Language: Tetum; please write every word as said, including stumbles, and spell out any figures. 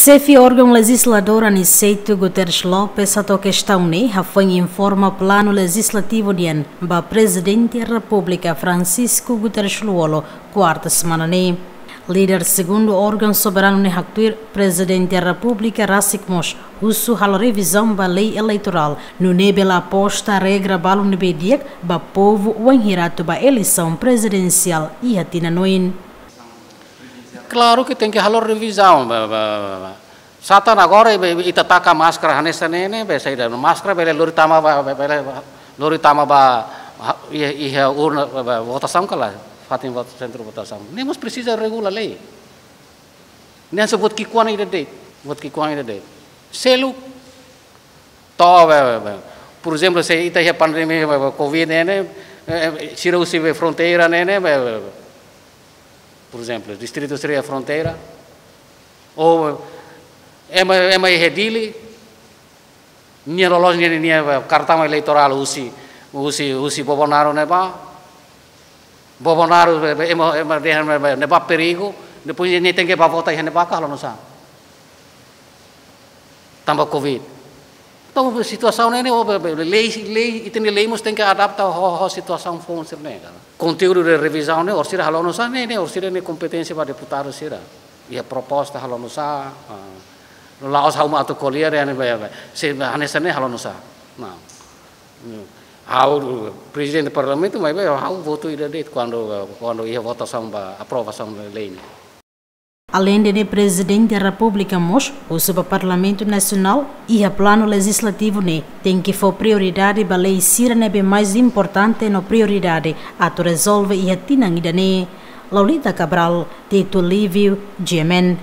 Xefe órgaun lejizladór Aniceto Guterres Lopes hato'o kestaun ne'e, hafoin informa planu lejizlativu nian ba Prezidente Repúblika Francisco Guterres Lú-Olo, kuarta semana ne'e. Líder segundu órgaun soberanu ne'e haktuir Prezidente Repúblika rasik mós husu halo revizaun ba lei eleitorál, nune'e bele aposta regra balu ne'ebé di'ak ba povu wainhira atu ba eleisaun prezidensiál iha tinan oin. Klaru ke tenke halo revizaun, ba, ba, ba, ba. Sá tan agora, be, be, ita taka máskara hanesan ne'e ne'e, be, saida, máskara bele lori tama ba, be, bele lori tama ba, ha, iha, iha urna, ba, ba, votasaun ka lae, fatin vot-, sentru votasaun. Ne'e mós presiza regula lei. Ne'e hanesan buat ki'ikoan ida de'it, buat ki'ikoan ida de'it. Seluk, to'o, be, be, be. Por ezemplu, se ita iha pandemia, be, be, covid ne'e ne'e, eh, eh, sira husi be fronteira ne'e ne'e, be, be, be. Por ezemplu, distritu sira iha fronteira, ou ema, ema iha Dili, nia loloos nia, nia, nia kartaun eleitorál husi, husi, husi Bobonaro ne'ebá. Bobonaro, be, be, ema, ema dehan, be, be, ne'ebá perigu, depois nia tenke ba vota iha ne'ebá ka halo nu'usá? Tanba covid. Entaun, situasaun ne'e ne'e, o, be, be, lei, lei, ita-nia lei mós tenke adapta ho, ho situasaun foun sira-ne'e, ka. Konteúdu de revizaun ne'e, orsida halo nu'usá ne'e, ne'e, orsida ne'e kompeténsia ba deputadu sira. Iha proposta halo nu'usá, ah, la'ós ha'u mak atu ko'alia dehan, be, be, se hanesan ne'e halo nu'usá. Nah. Ha'u prezidente parlamentu, maibé ha'u votu ida de'it kuandu, kuandu iha votasaun ba aprovasaun lei ne'e. Aleinde ne'e, Prezidente Repúblika mós husu ba Parlamentu Nasionál iha planu lejizlativu ne'e tenke fó prioridade ba lei sira ne'ebé mais importante no prioridade atu rezolve iha tinan ida-ne'e. Laulita Cabral, Tito Lívio, G M N.